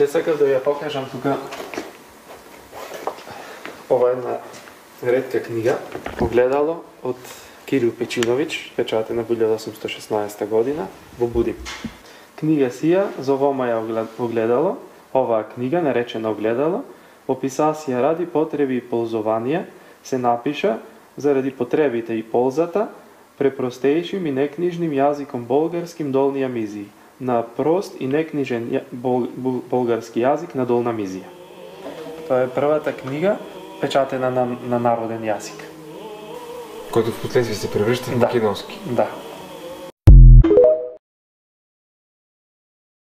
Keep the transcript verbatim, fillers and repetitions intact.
Ќе сакав да ја покажам тука ова една ретка книга, Огледало од Кирил Печиновиќ, печатена во илјада осумстотини и шеснаесета година во Будим. Книга сија зовома ја Огледало. Оваа книга, наречена Огледало, описација ради потреби и ползувања, се напиша заради потребите и ползата, препростејшим и некнижним јазиком болгарским долни јамизии, на прост и некнижен бол, болгарски јазик на долна мизија. Тоа е првата книга печатена на, на народен јазик. Којто впоследствие се превршта во македонски. Да.